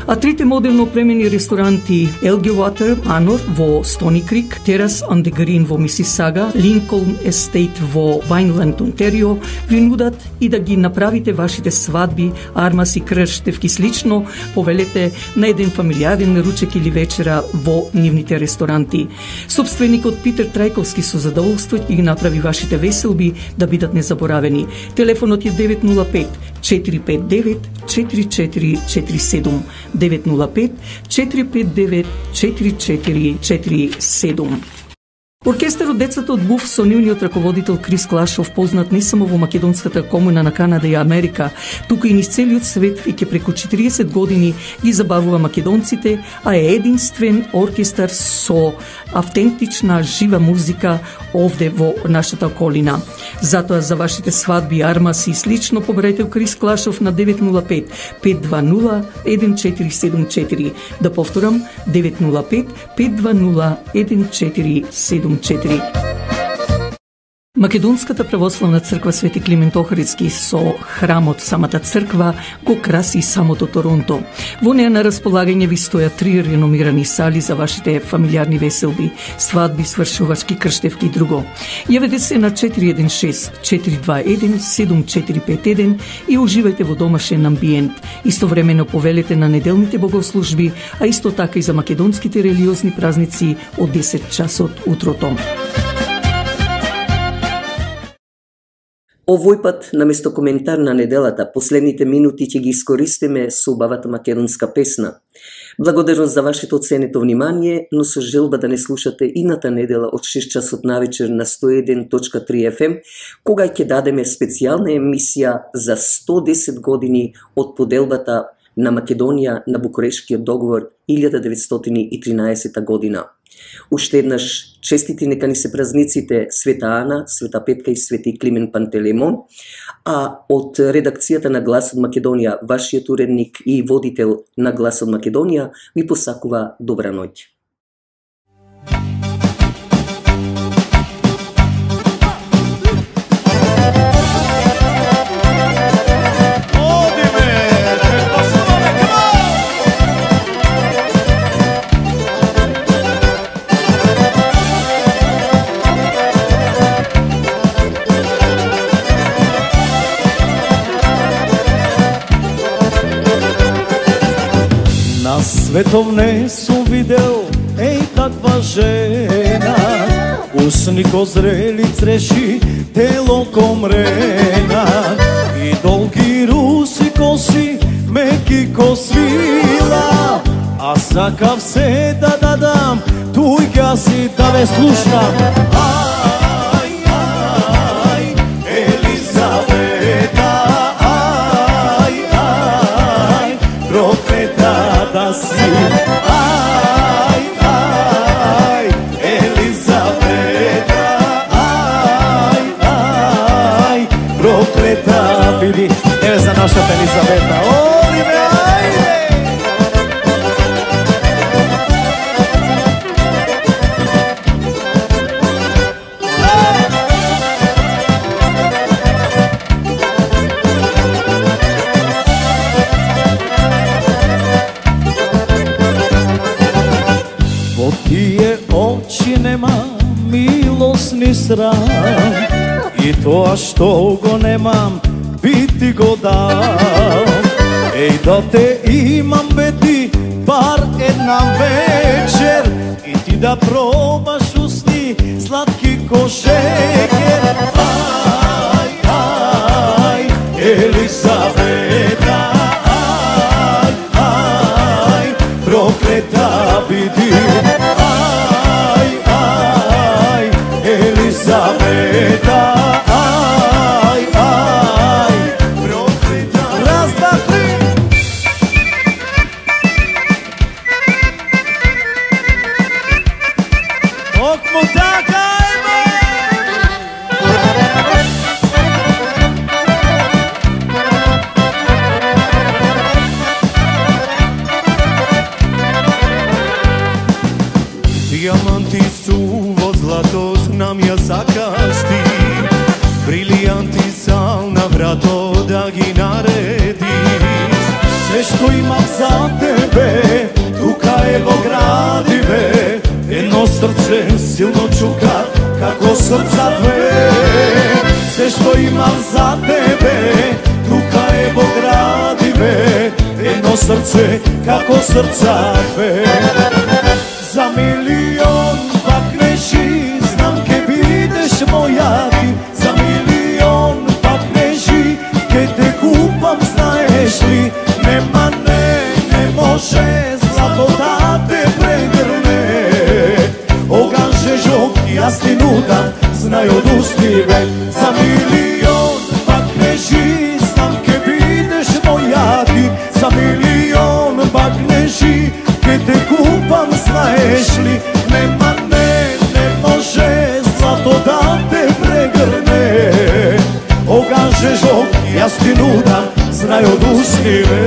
А трите модерно опремени ресторанти Elgin Water Manor во Стони Крик, Terrace on the Green во Мисисага, Lincoln Estate во Вајнланд, Онтарио, ви нудат и да ги направите вашите свадби, армаси, крштевки слично, повелете на еден фамилијарен ручек или вечера во нивните ресторанти. Собственикот Питер Трајковски со задоволство ќе ги направи вашите веселби да бидат незаборавени. Телефонот е 905 459 4447. 905 459 4447. Оркестарот Децата од Буф со нивниот раководител Крис Клашов, познат не само во македонската комуна на Канада и Америка, туку и низ целиот свет, и ке преку 40 години ги забавува македонците, а е единствен оркестар со автентична жива музика овде во нашата околина. Затоа за вашите свадби, армаси и слично побарајте Крис Клашов на 905 520 1474. Да повторам, 905 520 1474. Македонската православна црква Свети Климент Охридски со храмот самата црква го краси самото Торонто. Во неа на располагање ви стојат 3 реномирани сали за вашите фамилиарни веселби, свадби, свршувачки, крштевки и друго. Јавете се на 416 421 7451 и уживајте во домашен амбиент. Истовремено повелете на неделните богослужби, а исто така и за македонските религиозни празници од 10 часот утрото. Овој пат, наместо коментар на неделата, последните минути ќе ги искористиме со убавата македонска песна. Благодарност за вашето оценето внимание, но со желба да не слушате ината недела од 6 часот навечер на 101.3 FM, кога ќе дадеме специјална емисија за 110 години од поделбата на Македонија на Букурешкиот договор 1913 година. Уште еднаш честити нека ни се празниците Света Ана, Света Петка и Свети Климент Пантелеймон, а од редакцијата на Глас од Македонија, вашиот уредник и водител на Глас од Македонија, ви посакува добра ноќ. На светов не сум видел еј таква жена, усни ко зрели цреши, тело ко мрена, и долги руси коси, меки ко свила, а сакав се да дадам, туј ка си да ве слушам. Ај, ај, Елизавета, ај, ај, проклета да си. Ај, ај, Елизавета, ај, ај, проклета биди. Еве за нашата Елизавета, оди бе, ајде! ни срам, и тоа што го немам, би ти го дам. Еј да те имам бе ти, бар една вечер, и ти да пробаш усни сладки ко шекер. Ај, ај, Елисавета, ај, ај, проклета биди. Ај, ај, Елисавета, ај, ај, проклета. Раз, два, три. Токму така има. Диаманти суво злато знам ја сакаш ти, брилијанти сал на врато да ги наредиш. Се што имам за тебе, тука е во градиве, едно срце силно чука, како срца две. Се што имам за тебе, тука е во градиве, едно срце, како срца две. За милион пак нежи, знам ке бидеш моја ти. За милион пак нежи, ке те купам, знаеш ли. Нема не може злато да те прегрне. Оган жежок, јас ти нудам, знај од устиве. За милион пак нежи, знам ке бидеш моја ти. За милион пак нежи, ке те купам, знаеш ли. Нема не може злато да те прегрне. Оган жежок, јас ти нудам, знај од устиве.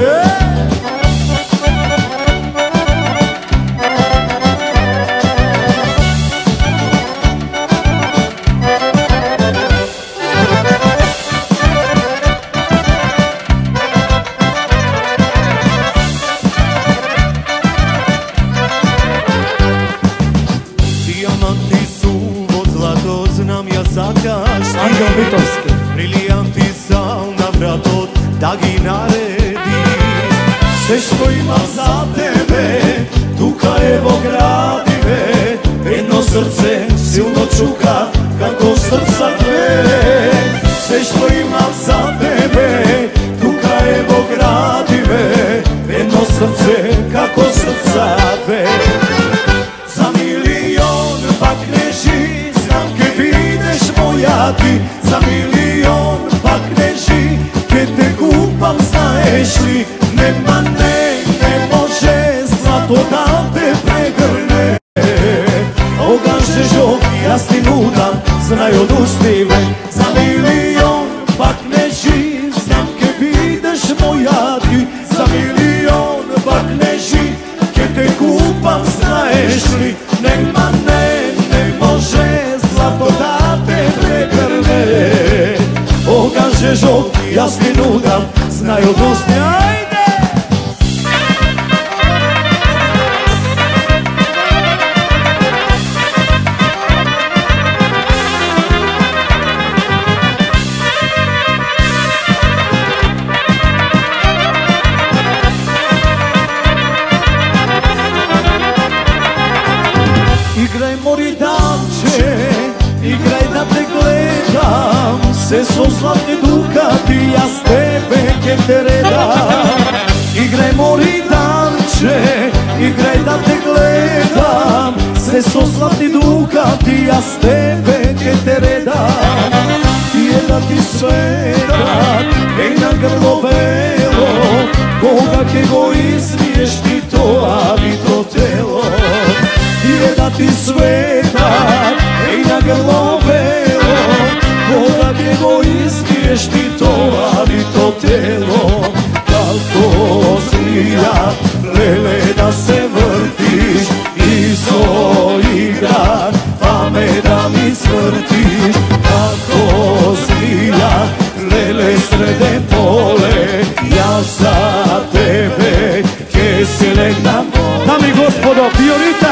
Диаманти суво злато знам ја сакаш ти, Ангел Битовски. брилијанти сал на вратот да ги нареди. Се што имам за тебе, тука е во градиве, едно срце силно чука, како срца две. Се што имам за тебе, тука е во градиве, едно срце, како срца две. За милион пак нежи, знам ке бидеш моја ти. За милион пак нежи, ке те купам, знаеш ли. Нема не може злато да те прегрне. Оган жежок, јас ти нудам, знај од устиве. За милион пак нежи, знам ке бидеш моја ти. За милион пак нежи, ке те купам, знаеш ли. Нема не може злато да те прегрне. Оган жежок, јас ти нудам, знај од устиве. Ајде! Играј мори дамче, играј да те гледам, се со златни дукати, јас тебе ке те редам. Играј мори дамче, играј да те гледам, се со златни дукати, јас тебе ке те редам. Тие да ти светат, еј на грло вело, кога ке го измиеш ти тоа вито тело. Тие да ти светат, еј на грло вело, кога ке го измиеш ти тоа вито тело. Како змија, леле да се вртиш, и со игра, па ме да ми свртиш. Како змија, леле среде поле, јас за тебе ке се легнам. Дами и господо, Виолита